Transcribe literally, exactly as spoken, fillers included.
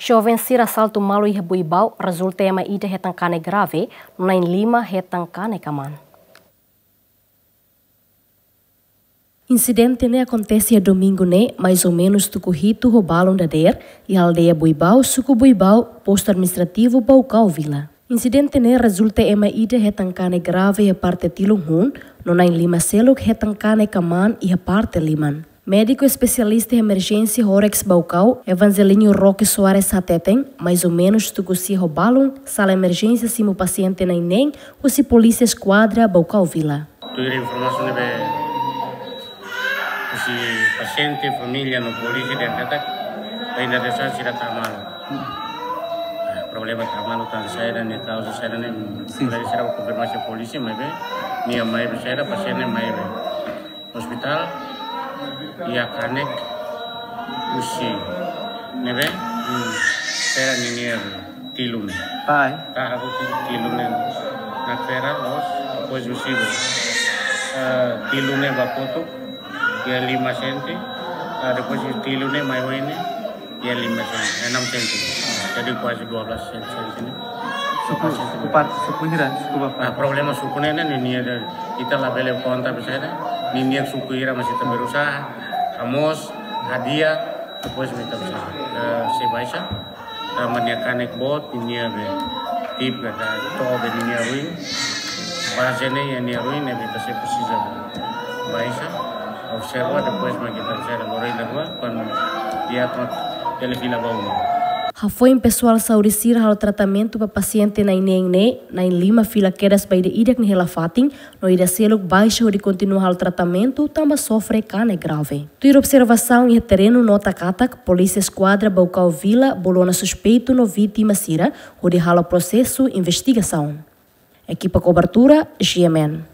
Joven sira asaltu malu iha Buibau, rezulta ema ida hetan kanek grave, no na'in lima hetan kanek aman. Insidente ne'e akontese iha domingu ne'e, mais ou menus tuku hitu ho balun dadeer, iha aldeia Buibau, suku Buibau, postu administrativu Baucau Vila. Insidente ne'e rezulta ema ida hetan kanek grave iha parte tilun hun, no na'in lima seluk hetan kanek aman iha parte liman. Médiku espesialista emerjénsia Horex Baucau, Evangelinho Roque Soares hateten, mais ou menus tuku sia ho balun, sala emerjénsia simu pasiente na'in neen, husi polísia eskuadra Baucau Vila. Tuir informasaun ne'ebé husi pasiente, família no polísia dehan katak, ainda desa sira tama malu. Ah, problema tama malu tan saida ne'e, kauza saida ne'e, sin, dari sira konfirmasi polísia, maibé, nia maibé saida, pasiente maibé. Ospitál, iha kanek husi ne'ebé, hmm, sira ninia tilun. Pai. Taha husi tilun ne'e. Nakfera, loos, depois husi, eh, tilun ne'e ba kotuk, iha lima senti, ah, depois tilun ne'e mai oin ne'e, iha lima senti, enam senti. Jadi kuaze dua belas senti, senti ne'e. Suku, suku par-, suku hira, suku bapa. Ah, problema suku ne'e, ne'e, ninia, ita labele konta besar, ninia suku hira, mas ita berusaha, hamoos, hadi'a, depois ita berusaha. Eh, sei baixa, tanba nia kanek boot, ninia be, tip, kata, to'o be ninia ruin, baze ne'e, iha nia ruin, ne'ebé ita sei presiza baixa, observa, depois mak ita sei lori iha rua, kuandu di'ak mak bele fila ba uma. Hafoin pesoál saúde sira halo tratamentu ba pasiente na'in neen ne'e, na'in lima fila kedas ba ida-idak nia hela-fatin, no ida seluk baixa hodi kontinua halo tratamentu tanba sofre kanek grave. Tuir observasaun iha terrenu nota katak, polísia eskuadra Baucau Vila bolu ona suspeitu no vítima sira hodi halo prosesu investigasaun. Ekipa kobertura, G M N.